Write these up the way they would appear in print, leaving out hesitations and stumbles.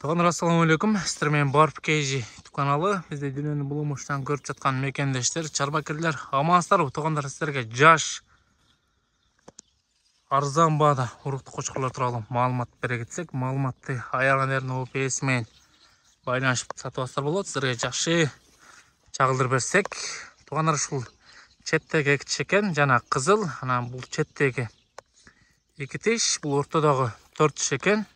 Туугандар, ассаламу алейкум. Сиздер менен Барп KG каналы. Бизде дүйнөнүн булумуштан көрүп жаткан мекендештер, чарбакерлер, амансыздарбы? Туугандар, сиздерге жаш арзан баада уруктуу кочкорлор тууралуу маалымат бере кетсек, маалыматты аягына эрин OPS менен байланышып сатып алсаңыздар болот. Сиздерге жакшы чагылдырып берсек, туугандар, ушул четтеги эки тиш экен, жана кызыл, анан бул четтеги эки тиш, бул ортодогу 4 тиш экен.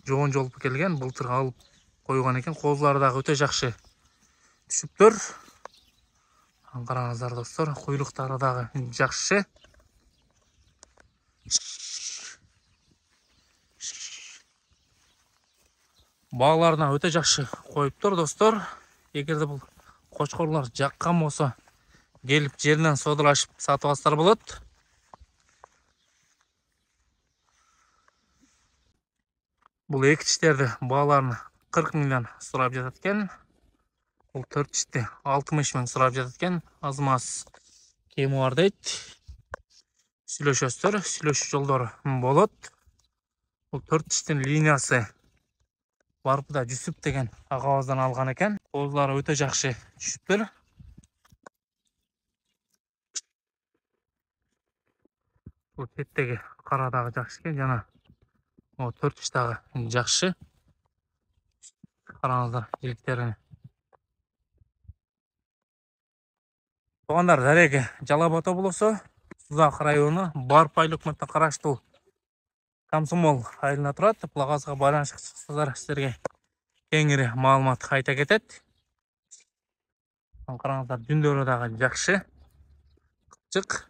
Жоон жолуп келген, былтыр алып койгон экен. Коозулары дагы өтө жакшы түшүптөр. Караңыздар достор, куйлуктары дагы жакшы. Бааларына өтө жакшы коюптур достор. Эгерде бул кочкорлор жаккан болсо, келип жеринен содалашып сатып алсаңыздар болот. Бул эки тиштерди бааларын 40 миңден сурап жатат экен. Бул 4 тишти 60 миң сурап жатат экен. Аз-маз кеми бар дейт. Сүйлөшөсүздөр, сүйлөшүү жолдору болот. Бул 4 тиштин линиясы Барпыда Жүсүп деген агабыздан алган экен. Коозулары өтө жакшы түшүптүр. Бул четтеги кара дагы жакшы экен, жана 4 тиш дагы жакшы. Караңыздар жиликтерине. Туугандар, дареги Жалал Абад облусу, Сузак району, Барп айыл өкмөтүнө караштуу Комсомол айылына турат. Бул агабызга байланышка чыксаңыздар, сиздерге кеңири маалымат айта кетет. Караңыздар, жүндөрү дагы жакшы, кычык.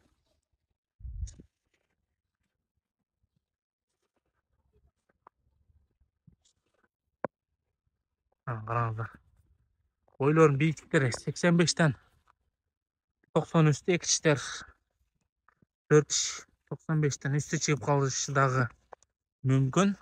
Караңыздар, бойлорунун бийиктиктери 85тен 90 үстү, эки тиштер 4 тиш 95тен үстү чыгып калышы дагы мүмкүн.